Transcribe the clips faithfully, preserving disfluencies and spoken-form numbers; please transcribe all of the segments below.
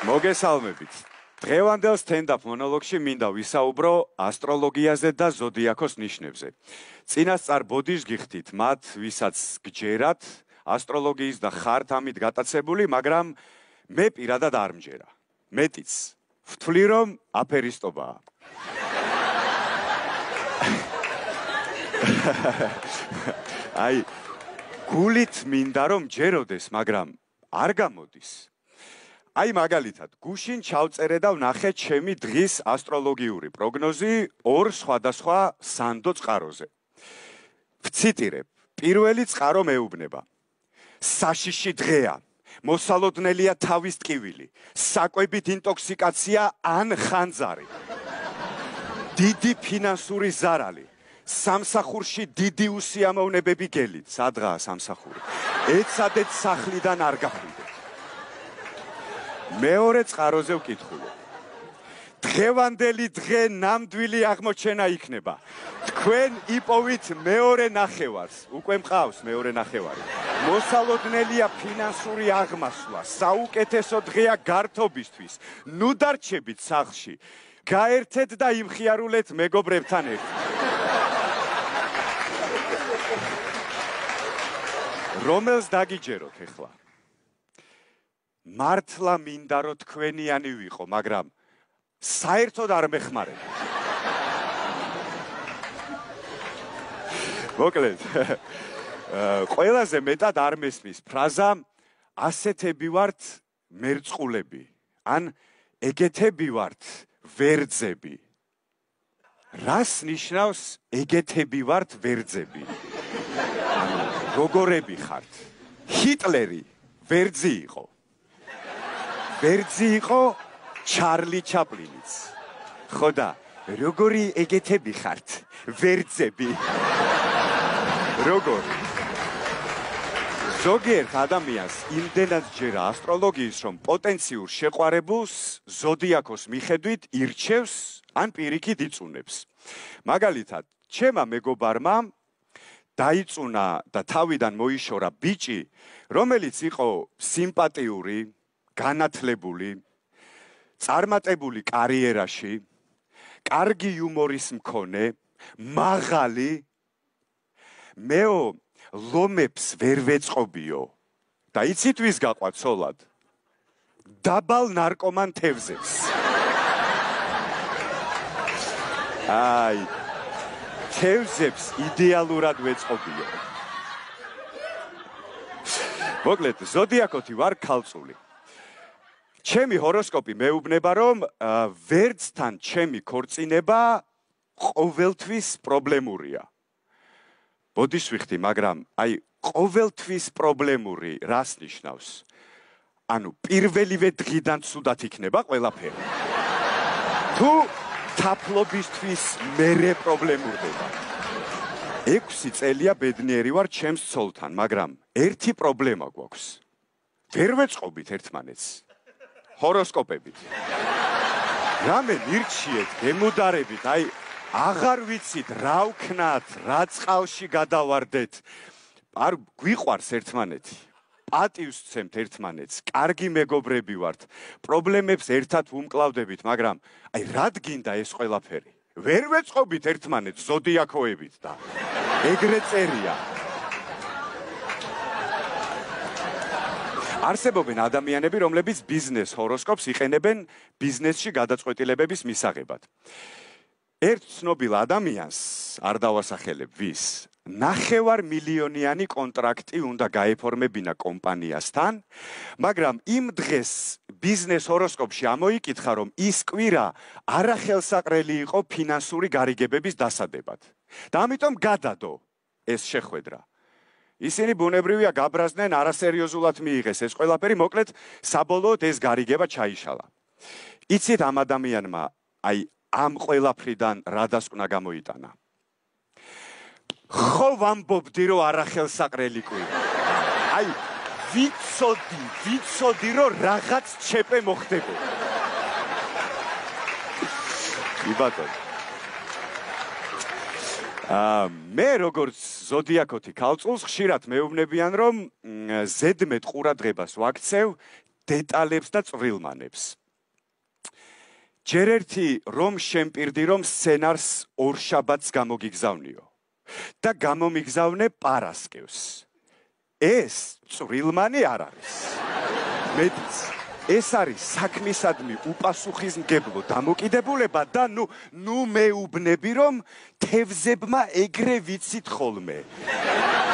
მოგესალმებით. დღევანდელ სტენდაპ მონოლოგში მინდა ვისაუბრო ასტროლოგიაზე და ზოდიაქოს ნიშნებზე. წინასწარ ბოდიშ გიხდით მათ, ვისაც გჯერათ ასტროლოგიის და ხართ ამით გატაცებული, მაგრამ მე პირადად არ მჯერა. მეტიც ვთვლი რომ აფერისტობაა. აი, გულით მინდა რომ ჯეროდეს, მაგრამ არ გამოდის. აი მაგალითად, გუშინ ჩავწერე და ვნახე ჩემი დღის ასტროლოგიური პროგნოზი ორ სხვადასხვა სანდო წყაროზე. ვციტირებ, პირველი წყარო მეუბნება. საშიში დღეა, მოსალოდნელია თავის ტკივილი, საკვებით ინტოქსიკაცია ან ხანძარი. დიდი ფინანსური ზარალი. სამსახურში დიდი უსიამოვნებები გელით, სადღაა სამსახური. ეცადეთ სახლიდან არ გახვიდეთ. მეორე წყაროზე ვკითხულობ. დღევანდელი დღე ნამდვილი აღმოჩენა იქნება. თქვენ იპოვით მეორე ნახევარს, უკვე მყავს მეორე ნახევარი. მოსალოდნელია ფინანსური აღმასვლა, საუკეთესო დღეა გართობისთვის. ნუ დარჩებით სახლში. გაერთეთ და იმხიარულეთ მეგობრებთან ერთად. რომელს დაგიჯეროთ ეხლა? მართლა მინდა რომ თქვენიანი ვიყო, მაგრამ საერთოდ არ მეხმარება. მოკლედ, ყველაზე მეტად არ მესმის ფრაზა ასეთები ვართ მერწყულები, ან ეგეთები ვართ ვერძები. რას ნიშნავს ეგეთები ვართ ვერძები? როგორები ხართ? ჰიტლერი ვერძი იყო. ვერძი იყო ჩარლი ჩაპლინიც. ხო და როგორი ეგეთები ხართ? ვერძები. როგორი? ზოგიერთ ადამიანს იმდენად ჯერა ასტროლოგიის, რომ პოტენციურ შეყვარებულს ზოდიაქოს მიხედვით ირჩევს ან პირიქით იწუნებს. მაგალითად, ჩემა მეგობარმა დაიწუნა და თავიდან მოიშორა ბიჭი, რომელიც იყო სიმპათიური, განათლებული, წარმატებული კარიერაში, კარგი იუმორის მქონე, მაღალი. მეო ლომებს ვერ ვეწყობიო და იცით ვის გაყვა ცოლად? დაბალ ნარკომან თევზებს. აი, თევზებს იდეალურად ვეწყობიო. მოკლედ, ზოდიაქოთი ვარ ქალწული. ჩემი ჰოროსკოპი მეუბნება, რომ ვერძთან ჩემი ქორწინება ყოველთვის პრობლემურია. ბოდიშ ვიხდი, მაგრამ აი ყოველთვის პრობლემური რას ნიშნავს? ანუ პირველივე დღიდან ცუდად იქნება ყველაფერი. თუ თაფლობისთვის მერე პრობლემურდება. ექვსი წელია ბედნიერი ვარ ჩემს ცოლთან, მაგრამ ერთი პრობლემა გვაქვს. ვერ ვეწყობით ერთმანეთს. ჰოროსკოპებით. რამე მირჩიეთ, გემუდარებით, აი აღარ ვიცით რა ვქნათ, რა წყალში გადავარდეთ. არ გვიყვარს ერთმანეთი. პატივს ვცემთ ერთმანეთს, კარგი მეგობრები ვართ, პრობლემებს ერთად ვუმკლავდებით, მაგრამ აი რად გინდა ეს ყველაფერი? ვერ ვეწყობით ერთმანეთს ზოდიაქოებით და ეგრე წერია. არსებობენ ადამიანები, რომლებიც ბიზნეს ჰოროსკოპს იყენებენ ბიზნესში გადაწყვეტილებების მისაღებად. ერთ ცნობილ ადამიანს არ დავასახელებ ვის, ნახევარ მილიონიანი კონტრაქტი უნდა გაეფორმებინა კომპანიასთან, მაგრამ იმ დღეს ბიზნეს ჰოროსკოპში ამოიკითხა, რომ ის კვირა არახელსაყრელი იყო ფინანსური გარიგებების დასადებად. და ამიტომ გადადო ეს შეხვედრა. ისინი ბუნებრივია გაბრაზდნენ, არასერიოზულად მიიღეს ეს ყველაფერი, მოკლედ საბოლოოდ ეს გარიგება ჩაიშალა. იცით ამ ადამიანმა აი ამ ყველაფრიდან რა დასკვნა გამოიტანა? ხო ვამბობდი, რომ არახელსაყრელი კვირა. აი ვიცოდი, ვიცოდი, რომ რაღაც ჩეპე მოხდებოდა. იბატონო. აა მე როგორც ზოდიაქოთი ქალწულს ხშირად მეუბნებიან, რომ ზედმეტ ყურადღებას ვაქცევ დეტალებს და წვრილმანებს. ჯერ ერთი რომ შემპირდი რომ სცენარს ორ შაბათს გამოგიგზავნიო და გამომიგზავნე პარასკევს. ეს წვრილმანი არ არის. მეტიც ეს არის საქმისადმი უპასუხისმგებლო დამოკიდებულება და ნუ ნუ მეუბნები რომ თევზებმა ეგრე ვიცით ხოლმე.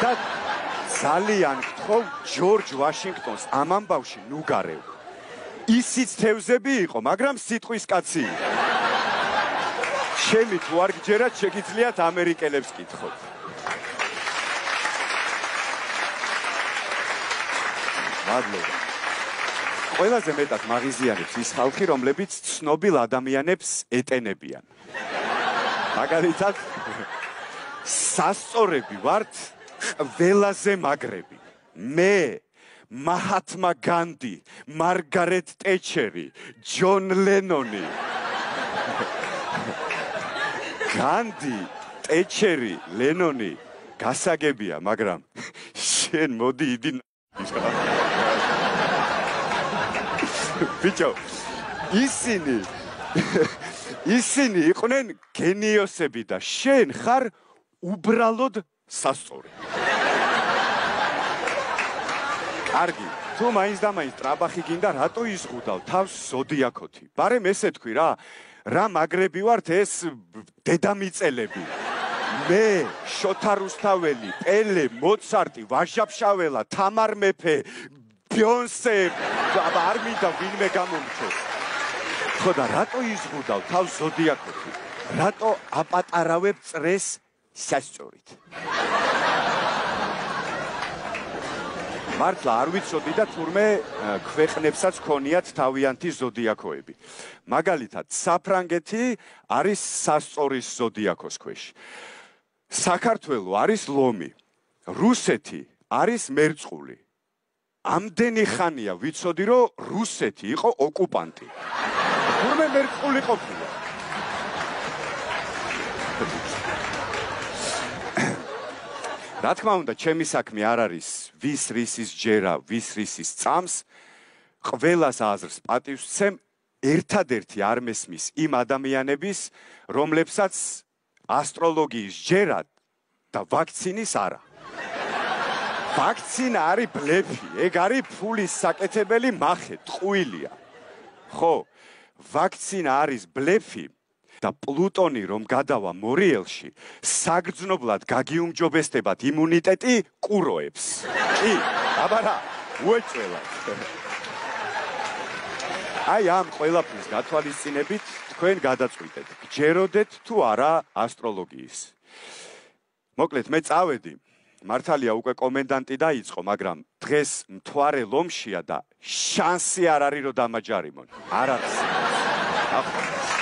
და ძალიან გთხოვ ჯორჯ ვაშინგტონს ამ ამბავში ნუ გარევ. ისიც თევზები იყო, მაგრამ სიტყვის კაცი. ჩემი თუ არ გჯერათ, შეგიძლიათ ამერიკელებს კითხოთ. მადლობა. ყველაზე მეტად მაღიზიანებს ის ხალხი, რომლებიც ცნობილ ადამიანებს ეტენებიან. მაგალითად, სასწორები ვართ ყველაზე მაგრები. მე, მაჰათმა განდი, მარგარეტ ტეჩერი, ჯონ ლენონი. განდი, ტეჩერი, ლენონი გასაგებია, მაგრამ შენ მოდი იდი ბიჭო, ისინი ისინი იყვნენ გენიოსები და შენ ხარ უბრალოდ სასწორი. კარგი, თუ მაინც და მაინც ტრაბახი გინდა, რატო იზღუდავ თავს ზოდიაქოთი? ბარემ ესე თქვი რა, რა მაგრები ვართ ეს დედამიწელები. მე, შოთა რუსთაველი, პელე, მოცარტი, ვაჟა-ფშაველა, თამარ მეფე, ბიონსე, არ მინდა ვინმე გამომჩოს. ხო და რატო იზღუდავ თავს ზოდიაქოთი? რატო აპატარავებ წრეს სასწორით? მართლა არ ვიცოდი და თურმე ქვეყნებსაც ქონიათ თავიანთი ზოდიაქოები. მაგალითად, საფრანგეთი არის სასწორის ზოდიაქოს ქვეშ. საქართველო არის ლომი. რუსეთი არის მერწყული. ამდენი ხანია ვიცოდი, რომ რუსეთი იყო ოკუპანტი. თურმე მერწყული ყოფილა. რა თქმა უნდა, ჩემი საქმე არ არის ვის რისის ჯერა, ვის რისის წამს, ყველას აზრს პატივს ვცემ, ერთადერთი არ მესმის იმ ადამიანების, რომლებსაც ასტროლოგიის ჯერა და ვაქცინის არა. ვაქცინა არის ბლეფი, ეგ არის ფულის საკეთებელი მახე, ტყუილია. ხო, ვაქცინა არის ბლეფი. და პლუტონი რომ გადავა მორიელში, საგრძნობლად გაგიუმჯობესდებათ იმუნიტეტი კუროებს. კი, აბა რა, უეჭველად. აი ამ ყველაფრის გათვალისწინებით თქვენ გადაწყვიტეთ, გჯეროდეთ თუ არა ასტროლოგიის. მოკლედ მე წავედი, მართალია უკვე კომენდანტი დაიწყო, მაგრამ დღეს მთვარე ლომშია და შანსი არ არის რომ დამაჯარიმონ. არ არის.